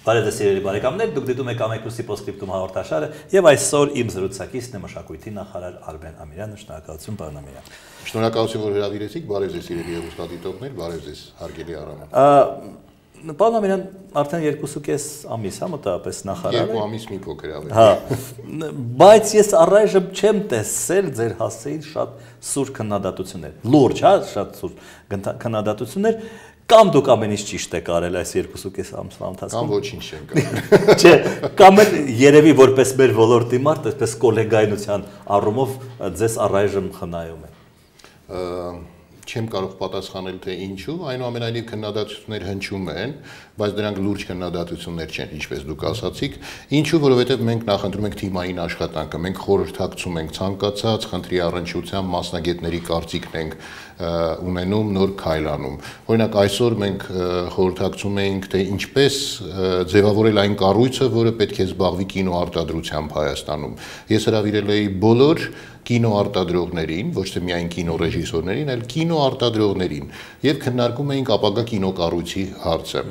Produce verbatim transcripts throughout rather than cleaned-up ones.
Բարև ձեզ սիրելի բարեկամներ, դուք դիտում եք Ամեկուսի Պոստսկրիպտում հաղորդաշարը եւ այսօր իմ զրուցակիցն է մշակույթի նախարար Արմեն Ամիրյանը, շնորհակալություն պարոն Ամիրյան։ Շնորհակալություն, որ հրավիրեցիք, բարև ձեզ սիրելի հեռուստադիտողներ, բարև ձեզ հարգելի Արամ։ Պարոն Ամիրյան, արդեն երկուսուկես ամիս, հա, մոտավորապես նախարար է։ Երկու ամիս մի փոքր ավելի։ Հա։ Բայց ես առայժմ չեմ տեսել ձեր հասցեին շատ սուր քննադատություններ։ Լուրջ, հա, շատ սուր քննադատություններ, կամ դուք ամեն ինչ ճիշտ եք արել այս երկուսուկես ամսվա ընթացքում։ Կամ ոչինչ չենք արել։ Չէ, կամ էլ երևի որպես մեր ոլորտի մարդ, այսպես կոլեգայնության առումով ձեզ առայժմ խնայում է։ Չեմ կարող պատասխանել թե ինչու, այնուամենայնիվ քննադատություններ հնչում են, բայց դրանք լուրջ քննադատություններ չեն, ինչպես դուք ասացիք, ինչու, որովհետև մենք նախընտրում ենք թիմային աշխատանքը, մենք խորհրդակցում ենք ցանկացած խնդրի առնչությամբ մասնագետների կարծիքն ենք ունենում, նոր քայլանում։ Օրինակ այսօր մենք խորհրդակցում էինք, թե ինչպես ձևավորել այն կառույցը, որը պետք է զբաղվի կինոարտադրությամբ Հայաստանում։ Ես հրավիրել էի բոլոր կինոարտադրողներին, ոչ թե միայն կինոռեժիսորներին, այլ կինոարտադրողներին եւ քննարկում էինք ապագա կինոկառույցի հարցը։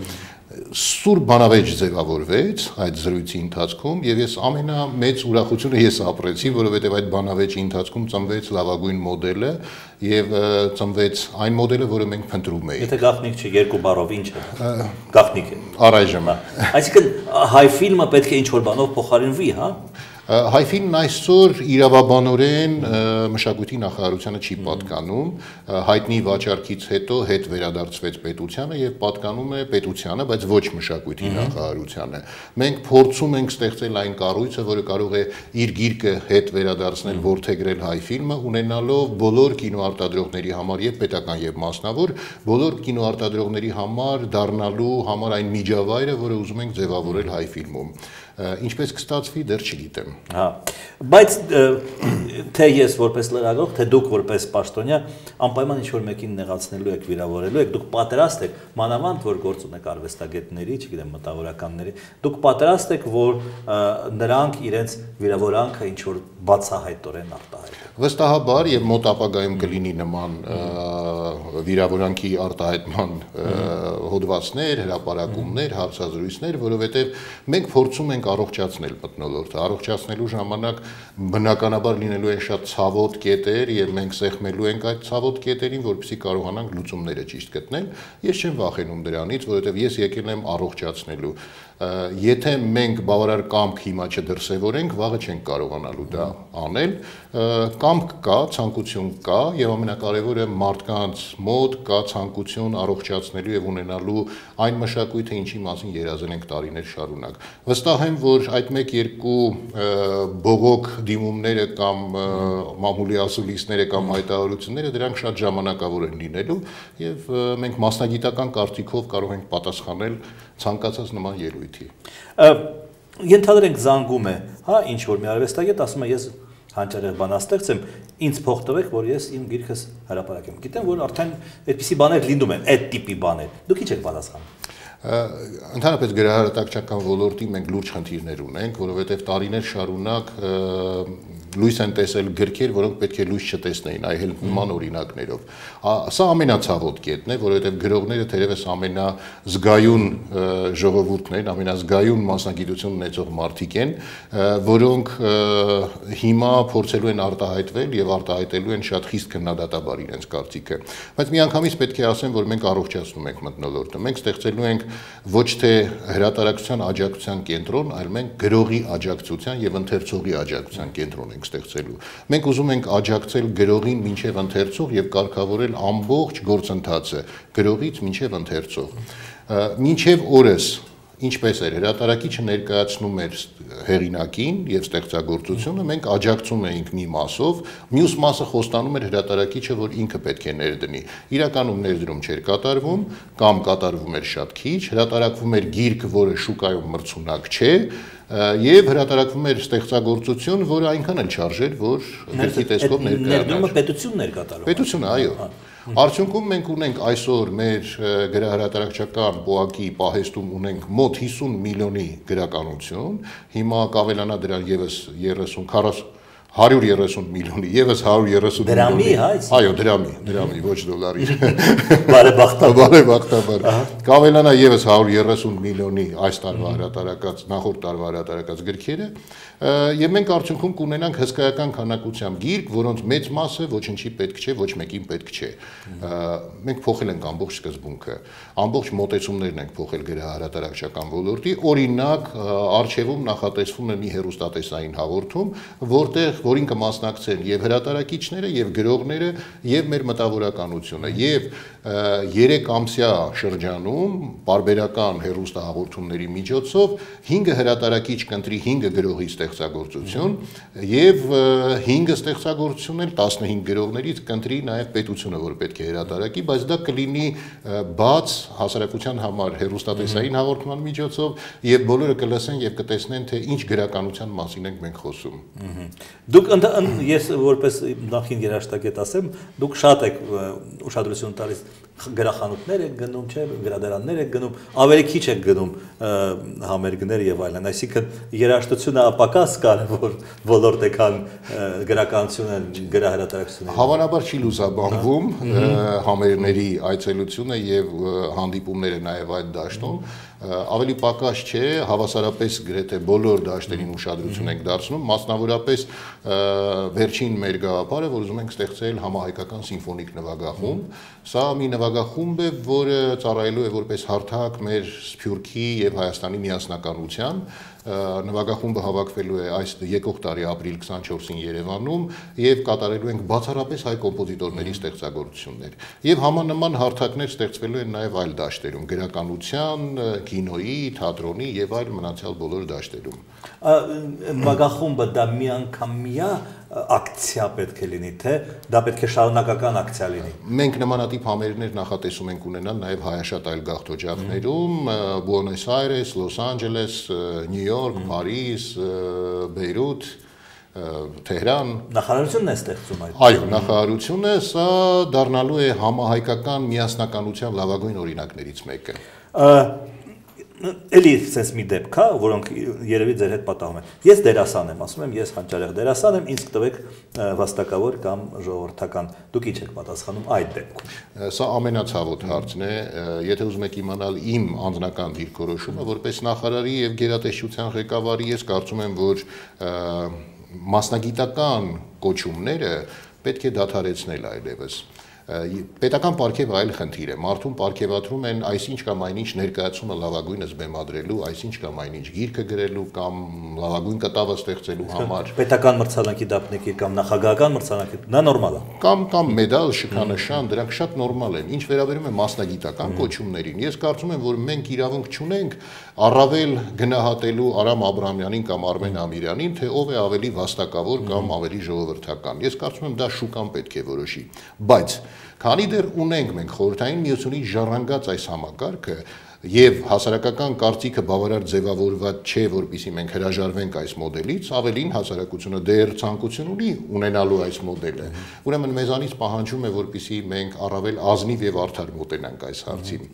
Սուր բանավեճ ձևավորվեց այդ զրույցի ընթացքում եւ ես ամենամեծ ուրախությունը ես ապրեցի, որովհետեւ այդ բանավեճի ընթացքում ծնվեց լավագույն մոդելը եւ ծնվեց այն մոդելը, որը մենք փնտրում էինք։ Եթե գաղտնիք չի երկու բառով ինչ է։ Գաղտնիք է։ Առայժմ։ Այսինքն հայ ֆիլմը պետք է ինչ որ բանով փոխարինվի, հա։ Հայ ֆիլմն այսօր իրավաբանորեն մշակույթի նախարարությանը չի պատկանում, հայտնի վաճառքից հետո հետ վերադարձվեց պետությանը եւ պատկանում է պետությանը, բայց ոչ մշակույթի նախարարությանը։ Մենք փորձում ենք ստեղծել այն կառույցը, որը կարող է իր գիրկը հետ վերադարձնել, որդեգրել հայ ֆիլմը, ունենալով բոլոր կինոարտադրողների համար եւ պետական եւ մասնավոր, բոլոր կինոարտադրողների համար դառնալու համար այն միջավայրը, որը ուզում ենք ձևավորել հայ ֆիլմում։ Ինչպես կստացվի, դեռ չգիտեմ։ Հա, բայց թե ես որպես լրագրող, թե դուք որպես պաշտոնյա անպայման ինչ-որ մեկին նեղացնելու եք, վիրավորելու եք, դուք պատրաստ եք, մանավանդ որ գործ ունեք արվեստագետների, չգիտեմ, մտավորականների, դուք պատրաստ եք, որ նրանք իրենց վիրավորանքը ինչ-որ բացահայտորեն արտահայտեն։ Վստահաբար եւ մոտ ապագայում կլինի նման վիրավորանքի արտահայտման հոդվածներ, հրապարակումներ, հարցազրույցներ, որովհետեւ մենք փորձում ենք առողջացնել մթնոլորտը, առողջացնելու ժամանակ բնականաբար լինելու են շատ ցավոտ կետեր եւ մենք սեղմելու ենք այդ ցավոտ կետերին, որպեսզի կարողանանք լուծումները ճիշտ գտնել։ Ես չեմ վախենում դրանից, որովհետեւ ես եկել եմ առողջացնելու։ Եթե մենք բավարար կամք հիմա չդրսևորենք, վաղը չենք կարողանալու դա անել, կամք կա, ցանկություն կա եւ ամենակարևորը մարդկանց մոտ կա ցանկություն առողջացնելու եւ ունենալու այն մշակույթը, ինչի մասին երազել ենք տարիներ շարունակ։ Վստահ եմ, որ այդ մեկ-երկու բողոք դիմումները կամ մամուլի ասուլիսները կամ հայտարարությունները դրանք շատ ժամանակավոր են լինելու եւ մենք մասնագիտական կարծիքով կարող ենք պատասխանել ցանկացած նման ելույթի։ Ենթադրենք զանգում է, հա, ինչ որ մի արվեստագետ ասում է ես հանճարեղ բանաստեղծ եմ, ինձ փող տվեք, որ ես իմ գիրքս հրապարակեմ։ Գիտեմ, որ արդեն այդպիսի բաներ լինում են, այդ տիպի բաներ։ Դուք ինչ եք պատասխանում։ Ընդհանրապես գրահրատարակչական ոլորտի մենք լուրջ խնդիրներ ունենք, որովհետև տարիներ շարունակ լույս են տեսել գրքեր, որոնք պետք է լույս չտեսնեին, այլ նման օրինակներով։ Սա ամենացավոտ կետն է, որովհետև գրողները թերևս ամենազգայուն ժողովուրդն են, ամենազգայուն մասնագիտություն ունեցող մարդիկ են, որոնք հիմա փորձելու են արտահայտվել եւ արտահայտելու են շատ խիստ քննադատաբար իրենց կարծիքը։ Բայց միանգամից պետք է ասեմ, որ մենք առողջացնում ենք մթնոլորտը։ Մենք ստեղծելու ենք ոչ թե հրատարակչության աջակցության կենտրոն, այլ մենք գրողի աջակցության եւ ընթերցողի աջակցության կենտրոն ենք ստեղծելու։ Մենք ուզում ենք աջակցել գրողին մինչև ընթերցող եւ կարգավորել ամբողջ գործընթացը գրողից մինչև ընթերցող։ Մինչև օրս ինչպես էր հրատարակիչը ներկայացնում էր հեղինակին եւ ստեղծագործությունը, մենք աջակցում էինք մի մասով, մյուս մասը խոստանում էր հրատարակիչը, որ ինքը պետք է ներդնի։ Իրականում ներդրում չէր կատարվում, կամ կատարվում էր շատ քիչ, հրատարակվում էր գիրք, որը շուկայում մրցունակ չէ, եւ հրատարակվում էր ստեղծագործություն, որը այնքան էլ չարժեր, որ գրքի տեսքով ներկայանար։ Ներդրումը պետությունն էր կատարում։ Պետությունը, այո։ Արդյունքում մենք ունենք այսօր մեր գրահրատարակչական պոակի պահեստում ունենք մոտ հիսուն միլիոնի գրականություն, հիմա կավելանա դրան եւս երեսուն քառասուն հարյուր երեսուն միլիոնի, եւս հարյուր երեսուն միլիոնի։ Այո, դրամի, դրամի, ոչ դոլարի։ Բարեբախտաբար։ Բարեբախտաբար։ Կավելանա եւս հարյուր երեսուն միլիոնի այս տարվա հրատարակած, նախորդ տարվա հրատարակած գրքերը, եւ մենք արդյունքում կունենանք հսկայական քանակությամբ գիրք, որոնց մեծ մասը ոչինչի պետք չէ, ոչ մեկին պետք չէ։ Մենք փոխել ենք ամբողջ սկզբունքը, ամբողջ մոտեցումներն ենք փոխել գրահրատարակչական ոլորտի, օրինակ, արխիվում նախատեսվում է մի հեռուստատեսային հաղորդում, որտեղ որին կմասնակցեն եւ հրատարակիչները, եւ գրողները, եւ մեր մտավորականությունը, եւ երեք ամսյա շրջանում պարբերական հեռուստահաղորդումների միջոցով հինգ հրատարակիչ կընտրի հինգ գրողի ստեղծագործություն եւ հինգ ստեղծագործություն էլ տասնհինգ գրողներից կընտրի նաեւ պետությունը, որ պետք է հրատարակի, բայց դա կլինի բաց հասարակության համար հեռուստատեսային հաղորդման միջոցով եւ բոլորը կլսեն եւ կտեսնեն թե ինչ գրականության մասին ենք մենք խոսում։ Դուք ես որպես նախին երաժշտագետ ասեմ, դուք շատ եք ուշադրություն տալիս գրախանութներ եք գնում, չէ, գրադարաններ եք գնում, ավելի քիչ եք գնում համերգներ եւ այլն, այսինքն երաժշտությունը ապակաս կարևոր ոլորտ է, քան գրականությունը, գրահրատարակությունը։ Հավանաբար չի լուսաբանվում համերգների այցելությունը եւ հանդիպումները նաեւ այդ դաշտում, ավելի պակաս չէ, հավասարապես գրեթե բոլոր դաշտերին ուշադրություն ենք դարձնում, մասնավորապես վերջին մեր գաղափարը, որ ուզում ենք ստեղծել համահայկական սիմֆոնիկ նվագախումբ, սա մի նվագախումբ է, որը ծառայելու է որպես հարթակ մեր Սփյուռքի եւ Հայաստանի միասնականության, նվագախումբը հավաքվելու է այս եկող տարի ապրիլ քսանչորսին Երևանում եւ կատարելու ենք բացառապես հայ կոմպոզիտորների ստեղծագործություններ եւ համանման հարթակներ ստեղծվելու են նաեւ այլ դաշտերում գրականության, կինոյի, թատրոնի եւ այլ մնացյալ բոլոր դաշտերում։ Նվագախումբը դա միանգամյա ակցիա պետք է լինի, թե դա պետք է շարունակական ակցիա լինի։ Մենք նմանատիպ համերգներ նախատեսում ենք ունենալ նաեւ հայաշատ այլ գաղթօջախներում, Բուենոս Այրես, Լոս Անջելես, Նյու Յորք, Փարիզ, Բեյրութ, Թեհրան։ Նախարարությունն է ստեղծում այդ։ Այո, նախարարությունը սա դառնալու է համահայկական միասնականության լավագույն օրինակներից մեկը։ Էլի sense մի դեպք կա, որոնք երևի ձեր հետ պատահում են։ Ես դերասան եմ, ասում եմ, ես հանճարեղ դերասան եմ, ինձ տվեք վաստակավոր կամ ժողովրդական։ Դուք ինչ եք պատասխանում այդ դեպքում։ Սա ամենացավոտ հարցն է, եթե ուզում եք իմանալ իմ անձնական դիրքորոշումը, որպես նախարարի եւ գերատեսչության ղեկավարի, ես կարծում եմ, որ մասնագիտական կոչումները պետք է դադարեցնել այլևս։ Պետական պարգև այլ խնդիր է, մարդուն պարգևատրում են այսինչ կամ այնինչ ներկայացումը լավագույնս բեմադրելու, այսինչ կամ այնինչ գիրքը գրելու կամ լավագույն կտավը ստեղծելու համար։ Պետական մրցանակի դափնեկիր կամ նախագահական մրցանակի, դա նորմալ է։ Կամ կամ մեդալ, շքանշան, դրանք շատ նորմալ են։ Ինչ վերաբերում է մասնագիտական կոչումներին, ես կարծում եմ, որ մենք իրավունք չունենք առավել գնահատելու Արամ Աբրահամյանին կամ Արմեն Ամիրյանին, թե ով է ավելի վաստակավոր կամ ավելի ժողովրդական։ Ես կարծում եմ, դա շուկան պետք է որոշի, բայց քանի դեռ ունենք մենք խորհրդային միությունից ժառանգած այս համակարգը եւ հասարակական կարծիքը բավարար ձևավորված չէ, որպեսզի մենք հրաժարվենք այս մոդելից, ավելին հասարակությունը դեռ ցանկություն ունի ունենալու այս մոդելը։ Ուրեմն մեզանից պահանջում է, որպեսզի մենք առավել ազնիվ եւ արդար մոտենանք այս հարցին։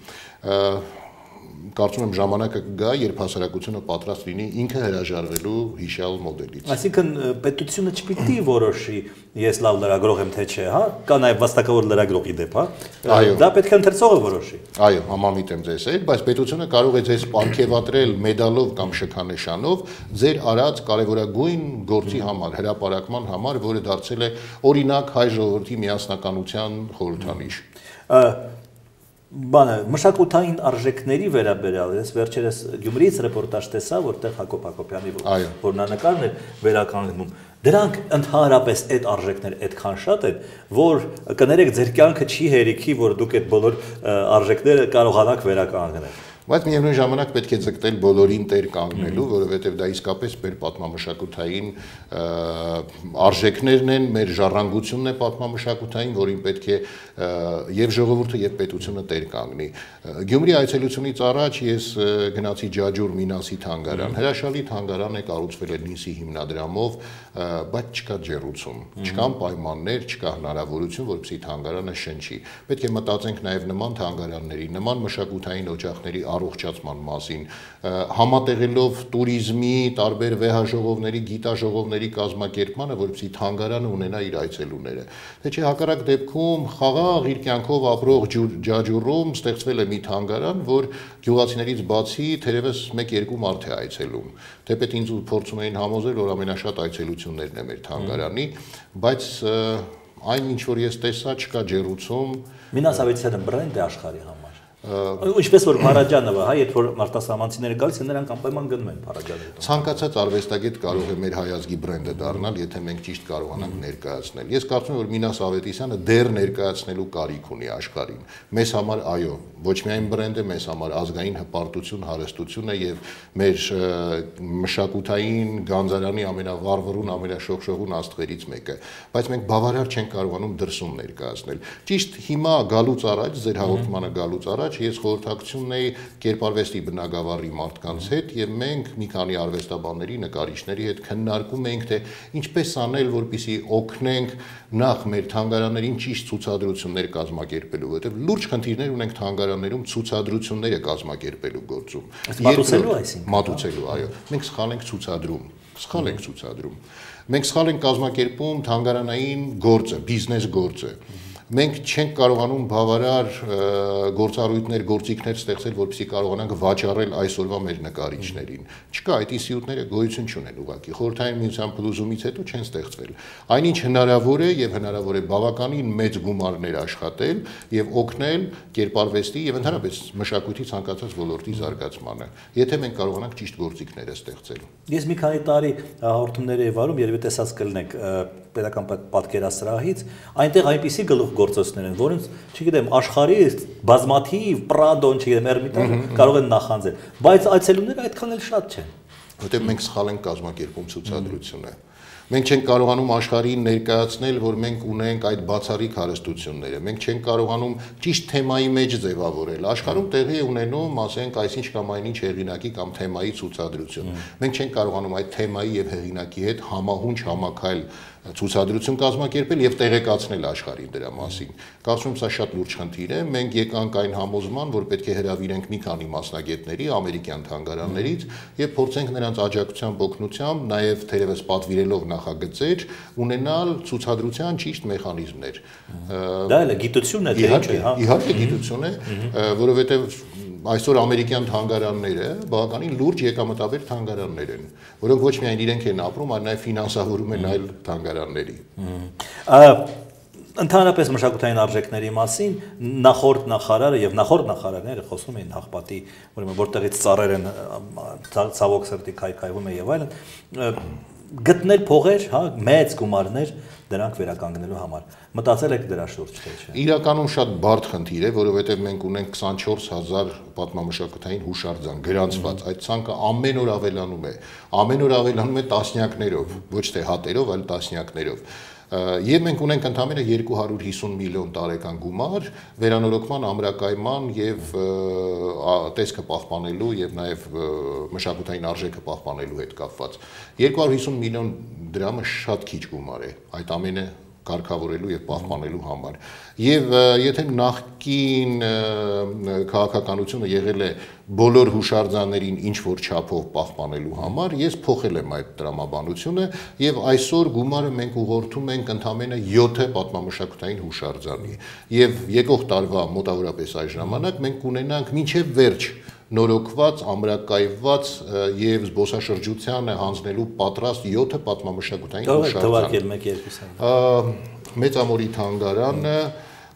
Կարծում եմ ժամանակը կգա, երբ հասարակությունը պատրաստ լինի ինքը հրաժարվելու հիշյալ մոդելից։ Այսինքն պետությունը չպիտի որոշի, ես լավ լրագրող եմ թե չէ, հա, կա նաև վաստակավոր լրագրողի դեպ, հա։ Դա պետք է ընթերցողը որոշի։ Այո, համամիտ եմ ձեզ հետ, բայց պետությունը կարող է ձեզ պարգևատրել մեդալով կամ շքանշանով ձեր արած կարևորագույն գործի համար, հրապարակման համար, որը դարձել է օրինակ հայ ժողովրդի միասնականության խորհրդանիշ։ Բանը մշակութային արժեքների վերաբերյալ ես վերջերս Գյումրիից ռեպորտաժ տեսա, որտեղ Հակոբ Հակոբյանի որնանկարն էր վերականգնում։ Դրանք ընդհանրապես այդ արժեքներ այդքան շատ են, որ կներեք ձեր կյանքը չի հերիքի, որ դուք այդ բոլոր արժեքները կարողանաք վերականգնել։ Բայց միևնույն ժամանակ պետք է ձգտել բոլորին տեր կանգնելու, որովհետև դա իսկապես մեր պատմամշակութային արժեքներն են, մեր ժառանգությունն է պատմամշակութային, որին պետք է եւ ժողովուրդը եւ պետությունը տեր կանգնի։ Գյումրի այցելությունից առաջ ես գնացի Ջաջուր Մինասի թանգարան, հրաշալի թանգարան է, կառուցվել է Նիսի հիմնադրամով, բայց չկա ջեռուցում, չկան պայմաններ, չկա հնարավորություն, որպեսզի թանգարանը շնչի։ Պետք է մտածենք նաեւ նման թանգարանների, նման մշակութային օջախների առողջացման մասին, համատեղելով туриզմի, տարբեր վեհաժողովների, գիտաժողովների կազմակերպմանը, որպեսզի թանգարանը ունենա իր այցելուները։ Թե չէ հակառակ դեպքում խաղաղ իր կյանքով ապրող ջաջուրում ստեղծվել է մի թանգարան, որ գյուղացիներից բացի թերևս մեկ-երկու մարդ է այցելում։ Թեպետ ինձ փորձում էին համոզել, որ ամենաշատ այցելություններն է մեր թանգարանի, բայց այն ինչ որ ես տեսա, չկա ջեռուցում։ Minas Avicii-ը բրենդ է աշխարհի համար։ Ինչպես որ Փարաջանովը, հա, երբ որ արտասահմանցիները գալիս են, նրանք անպայման գնում են Փարաջանովի։ Ցանկացած արվեստագետ կարող է մեր հայազգի բրենդը դառնալ, եթե մենք ճիշտ կարողանանք ներկայացնել։ Ես կարծում եմ, որ Minas Avicii-ը դեռ ներկայացնելու կարիք ունի աշխարհին։ Մեզ համար այո, ոչ միայն բրենդ է, մեզ համար ազգային հպարտություն, հարստություն է եւ մեր մշակութային գանձարանի ամենավառվռուն, ամենաշողշողուն աստղերից մեկը, բայց մենք բավարար չենք կարողանում դրսում ներկայացնել։ Ճիշտ հիմա գալուց առաջ, ձեր հաղորդմանը գալուց առաջ ես խորհրդակցություն ունեի կերպարվեստի բնագավառի մարդկանց հետ եւ մենք մի քանի արվեստաբանների, նկարիչների հետ քննարկում էինք թե ինչպես անել, որպեսզի օգնենք նախ մեր թանգարաններին ճիշտ ցուցադրություններ կազմակերպելու, որովհետեւ լուրջ խնդիրներ ունենք թանգարաններում ցուցադրությունները կազմակերպելու գործում։ Մատուցելու այսինքն։ Մատուցելու, այո։ Մենք սխալ ենք ցուցադրում, սխալ ենք ցուցադրում։ Մենք սխալ ենք կազմակերպում թանգարանային գործը, բիզնես գործը։ Մենք չենք կարողանում բավարար գործառույթներ, գործիքներ ստեղծել, որպեսզի կարողանանք վաճառել այսօրվա մեր նկարիչներին։ Չկա, այդ ինստիտուտները գոյություն չունեն ուղղակի։ Խորհրդային միության փլուզումից հետո չեն ստեղծվել։ Այնինչ հնարավոր է եւ հնարավոր է բավականին մեծ գումարներ աշխատել եւ օգնել կերպարվեստի եւ ընդհանրապես մշակույթի ցանկացած ոլորտի զարգացմանը, եթե մենք կարողանանք ճիշտ գործիքները ստեղծել։ Ես մի քանի տարի հաղորդումներ եմ վարում, երբ տեսած կլինեք պետական պատկերասրահից, այնտեղ այնպիսի գլուխգործոցներ են, որոնց, չգիտեմ, աշխարհի բազմաթիվ Պրադոն, չգիտեմ, Էրմիտաժը կարող են նախանձել, բայց այցելուները այդքան էլ շատ չեն։ Որտեղ մենք սխալ ենք կազմակերպում ցուցադրությունը։ Մենք չենք կարողանում աշխարհին ներկայացնել, որ մենք ունենք այդ բացառիկ հարստությունները։ Մենք չենք կարողանում ճիշտ թեմայի մեջ ձևավորել։ Աշխարհում տեղի է ունենում, ասենք, այսինչ կամ այնինչ հեղինակի կամ թեմայի ցուցադրություն։ Մենք չենք կարողանում այդ թեմայի եւ հեղինակի հետ համահունչ համակայել ցուցադրություն կազմակերպել եւ տեղեկացնել աշխարհին դրա մասին։ Կարծում եմ սա շատ լուրջ խնդիր է։ Մենք եկանք այն համոզման, որ պետք է հրավիրենք մի քանի մասնագետների ամերիկյան թանգարաններից եւ փորձենք նրանց աջակցությամբ, օգնությամբ, նաեւ թերևս պատվիրելով նախագծեր ունենալ ցուցադրության ճիշտ մեխանիզմներ։ Դա էլ է գիտություն է, թե ինչ է, հա։ Իհարկե գիտություն է, որովհետեւ այսօր ամերիկյան թանգարանները բավականին լուրջ եկամտաբեր թանգարաններ են, որոնք ոչ միայն իրենք են ապրում, այլ նաև ֆինանսավորում են այլ թանգարանների։ Ընդհանրապես մշակութային արժեքների մասին նախորդ նախարարը եւ նախորդ նախարարները խոսում էին հաղպատի, ուրեմն որտեղից ծառեր են ցավոք սրտի քայքայվում է եւ այլն, գտնել փողեր, հա, մեծ գումարներ դրանք վերականգնելու համար։ Մտածել եք դրա շուրջ, թե չէ։ Իրականում շատ բարդ խնդիր է, որովհետև մենք ունենք քսանչորս հազար պատմամշակութային հուշարձան գրանցված։ Այդ ցանկը ամեն օր ավելանում է, ամեն օր ավելանում է տասնյակներով, ոչ թե հատերով, այլ տասնյակներով։ Եվ մենք ունենք ընդամենը երկու հարյուր հիսուն միլիոն տարեկան գումար վերանորոգման, ամրակայման եւ տեսքը պահպանելու եւ նաեւ մշակութային արժեքը պահպանելու հետ կապված։ երկու հարյուր հիսուն միլիոն դրամը շատ քիչ գումար է այդ ամենը կարգավորելու եւ պահպանելու համար։ Եվ եթե նախկին քաղաքականությունը եղել է բոլոր հուշարձաններին ինչ որ չափով պահպանելու համար, ես փոխել եմ այդ տրամաբանությունը եւ այսօր գումարը մենք ուղղորդում ենք ընդամենը յոթ պատմամշակութային հուշարձանի։ Եվ եկող տարվա մոտավորապես այս ժամանակ մենք կունենանք մինչեւ վերջ նորոգված, ամրակայված եւ զբոսաշրջությանը հանձնելու պատրաստ յոթ պատմամշակութային հուշարձան։ Մեծամորի թանգարանը,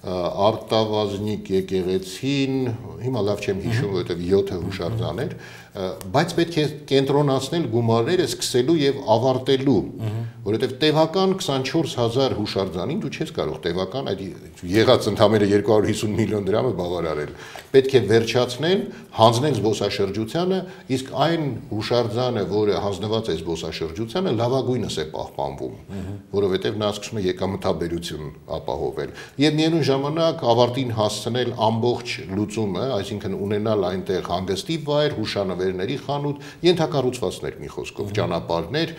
Արտավազնիկ եկեղեցին, հիմա լավ չեմ հիշում, որովհետեւ յոթ հուշարձան էր, բայց պետք է կենտրոնացնել գումարները սկսելու եւ ավարտելու, որովհետեւ տևական քսանչորս հազար հուշարձանին դու չես կարող տևական այդ եղած ընդամենը երկու հարյուր հիսուն միլիոն դրամը բավարարել։ Պետք է վերջացնել, հանձնել զբոսաշրջությանը, իսկ այն հուշարձանը, որը հանձնված է զբոսաշրջությանը, լավագույնս է պահպանվում, որովհետեւ նա սկսում է եկամտաբերություն ապահովել։ Եվ միևնույն ժամանակ ավարտին հասցնել ամբողջ լուծումը, այսինքն ունենալ այնտեղ հանգստի վայր, հուշանվեր նավերների խանութ, ենթակառուցվածքներ մի խոսքով, ճանապարհներ,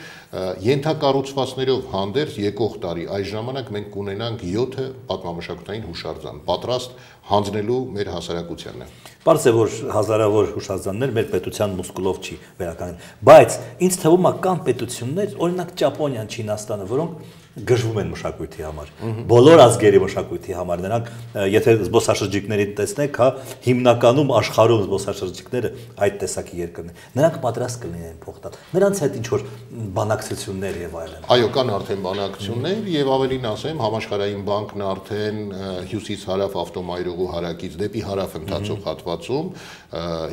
ենթակառուցվածքներով հանդերձ եկող տարի այս ժամանակ մենք կունենանք յոթ պատմամշակութային հուշարձան, պատրաստ հանձնելու մեր հասարակությանը։ Պարզ է, որ հազարավոր հուշարձաններ մեր պետության մուսկուլով չի վերականգնել, բայց ինձ թվում է կան պետություններ, օրինակ Ճապոնիան, Չինաստանը, որոնք գժվում են մշակույթի համար, բոլոր ազգերի մշակույթի համար, նրանք եթե զբոսաշրջիկներին տեսնեք, հա, հիմնականում աշխարհում զբոսաշրջիկները այդ տեսակի երկրներ, նրանք պատրաստ կլինեն փող տալ, նրանց հետ ինչ որ բանակցություններ եւ այլն։ Այո, կան արդեն բանակցություններ եւ ավելին ասեմ, Համաշխարհային բանկն արդեն հյուսիս-հարավ ավտոմայրուղու հարակից դեպի հարավ ընթացող հատվածում,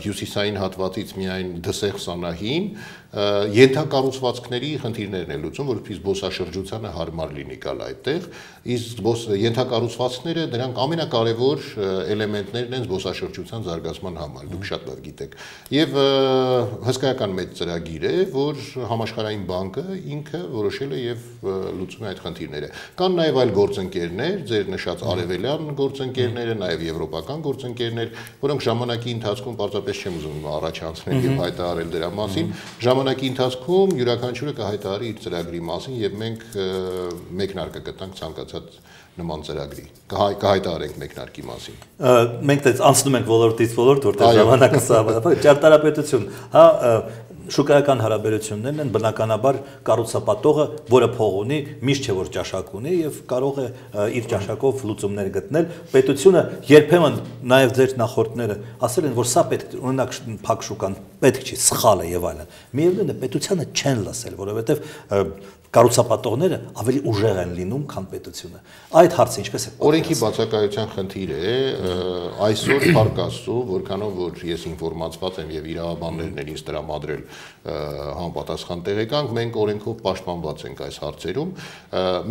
հյուսիսային հատվածից միայն Դսեղ Սանահին ենթակառուցվածքների խնդիրներն է լուծում, որովհետեւ զբոսաշրջությանը հարմար լինի գալ այդտեղ, իսկ ենթակառուցվածքները դրանք ամենակարևոր էլեմենտներն են զբոսաշրջության զարգացման համար, դուք շատ լավ գիտեք։ Եվ հսկայական մեծ ծրագիր է, որ Համաշխարհային բանկը ինքը որոշել է եւ լուծում է այդ խնդիրները։ Կան նաեւ այլ գործընկերներ, ձեր նշած արևելյան գործընկերները, նաեւ եվրոպական գործընկերներ, որոնք ժամանակի ընթացքում պարզապես չեմ ուզում առաջանցնել եւ հայտարարել դրա մասին, ժամանակի ընթացքում յուրաքանչյուրը կհայտարարի իր ծրագրի մասին եւ մենք մեկնարկը կտանք ցանկացած նման ծրագրի, կհայտարարենք մեկնարկի մասին։ Մենք դες անցնում ենք ոլորտից ոլորտ, որտեղ ժամանակը սահմանափակ, ճարտարապետություն, հա, շուկայական հարաբերություններն են բնականաբար կառուցապատողը, որը փող ունի, միշտ չէ որ ճաշակ ունի եւ կարող է իր ճաշակով լուծումներ գտնել։ Պետությունը երբեմն նաեւ ձեր նախորդները ասել են, որ սա պետք օրինակ փակ շուկան պետք չի, սխալ է եւ այլն։ Միևնույնն է, պետությանը չեն լսել, որովհետեւ կառուցապատողները ավելի ուժեղ են լինում, քան պետությունը։ Այդ հարցը ինչպես է։ Օրենքի բացակայության խնդիր է, այսօր փառք Աստծո, որքանով որ ես ինֆորմացված եմ եւ իրավաբաններն են ինձ տրամադրել համապատասխան տեղեկանք, մենք օրենքով պաշտպանված ենք այս հարցերում։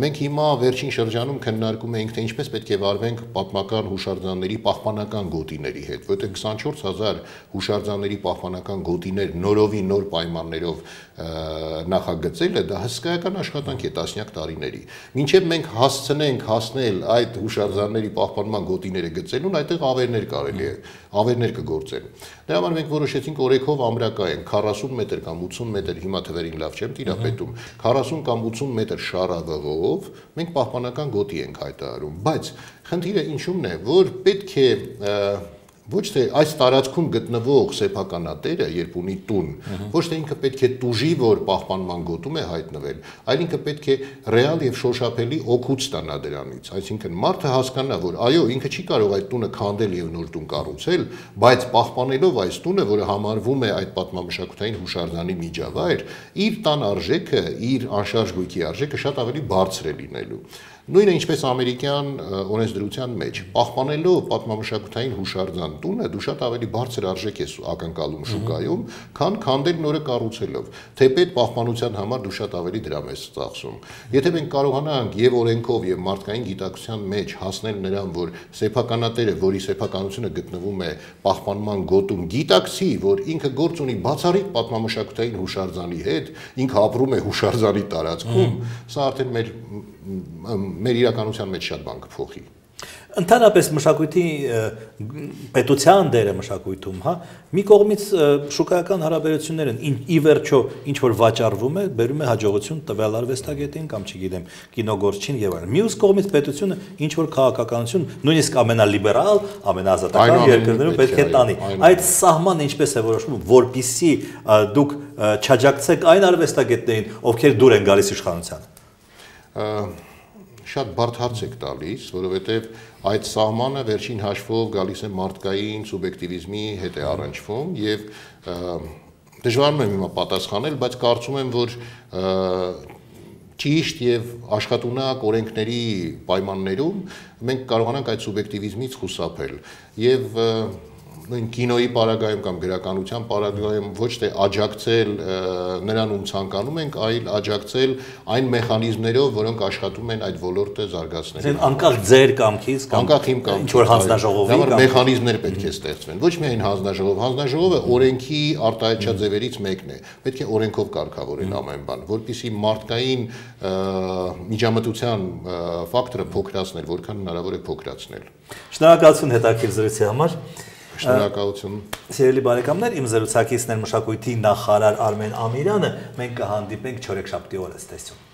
Մենք հիմա վերջին շրջանում քննարկում ենք, թե ինչպես պետք է վարվենք պատմական հուշարձանների պահպանական գոտիների հետ, որտեղ քսանչորս հազար հուշարձանների պահպանական գոտիներ նորովի նոր պայմաններով նախագծելը դա հսկայական աշխատանք է տասնյակ տարիների։ Մինչև մենք հասցնենք հասնել այդ հուշարձանների պահպանման գոտիները գծելուն, այդտեղ ավերներ կարելի է, ավերներ կգործեն։ Դրա համար մենք որոշեցինք օրենքով ամրակայենք քառասուն մետր կամ ութսուն մետր, հիմա թվերին լավ չեմ տիրապետում, քառասուն կամ ութսուն մետր շարավղով մենք պահպանական գոտի ենք հայտարարում, բայց խնդիրը ինչու՞մն է, որ պետք է ոչ թե այս տարածքում գտնվող սեփականատերը, երբ ունի տուն, ոչ թե ինքը պետք է տուժի, որ պահպանման գոտում է հայտնվել, այլ ինքը պետք է ռեալ եւ շոշափելի օգուտ ստանա դրանից։ Այսինքն մարդը հասկանա, որ այո, ինքը չի կարող այդ տունը քանդել եւ նոր տուն կառուցել, բայց պահպանելով այս տունը, որը համարվում է այդ պատմամշակութային հուշարձանի միջավայր, իր տան արժեքը, իր անշարժ գույքի արժեքը շատ ավելի բարձր է լինելու։ Նույնը ինչպես ամերիկյան օրենսդրության մեջ, պահպանելով պատմամշակութային հուշարձան տունը, դու շատ ավելի բարձր արժեք ես ակնկալում շուկայում, քան քանդել նորը կառուցելով։ Թեպետ պահպանության համար դու շատ ավելի դրամ ես ծախսում։ Եթե մենք կարողանանք եւ օրենքով եւ մարդկային գիտակցության մեջ հասնել նրան, որ սեփականատերը, որի սեփականությունը գտնվում է պահպանման գոտում, գիտակցի, որ ինքը գործ ունի բացառիկ պատմամշակութային հուշարձանի հետ, ինքը ապրում է հուշարձանի տարածքում, սա արդեն մեր մեր իրականության մեջ շատ բան կփոխի։ Ընդհանրապես մշակույթի պետության դերը մշակույթում, հա, մի կողմից շուկայական հարաբերություններն ի վերջո ինչ որ վաճառվում է, բերում է հաջողություն տվյալ արվեստագետին կամ չգիտեմ, կինոգործչին եւ այլն։ Մյուս կողմից պետությունը ինչ որ քաղաքականություն, նույնիսկ ամենալիբերալ, ամենաազատական երկրներում պետք է տանի։ Այդ սահմանը ինչպես է որոշվում, որպիսի դուք չաջակցեք այն արվեստագետներին, ովքեր դուր են գալիս իշխանությանը։ Շատ բարդ հարց եք տալիս, որովհետև այդ սահմանը վերջին հաշվով գալիս է մարդկային սուբյեկտիվիզմի հետ է առնչվում եւ դժվարում եմ հիմա պատասխանել, բայց կարծում եմ, որ ճիշտ եւ աշխատունակ օրենքների պայմաններում մենք կարողանանք այդ սուբյեկտիվիզմից խուսափել եւ նույն կինոյի պարագայում կամ գրականության պարագայում ոչ թե աջակցել նրան ում ցանկանում ենք, այլ աջակցել այն մեխանիզմներով, որոնք աշխատում են այդ ոլորտը զարգացնելու։ Անկախ ձեր կամքից կամ անկախ իմ կամքից, ինչ որ հանձնաժողովի կամ մեխանիզմներ պետք է ստեղծվեն։ Ոչ միայն հանձնաժողով, հանձնաժողովը օրենքի արտահայտչած ձևերից մեկն է։ Պետք է օրենքով կարգավորել ամեն բան, որպեսզի մարդկային միջամտության ֆակտորը փոքրացնել, որքան հնարավոր է փոքրացնել։ Շնորհակալություն հետաքրքիր զրույցի համար։ Շնորհակալություն։ Սիրելի բարեկամներ, իմ զրուցակիցն էր մշակույթի նախարար Արմեն Ամիրյանը, մենք կհանդիպենք չորեքշաբթի օրը, ցտեսություն։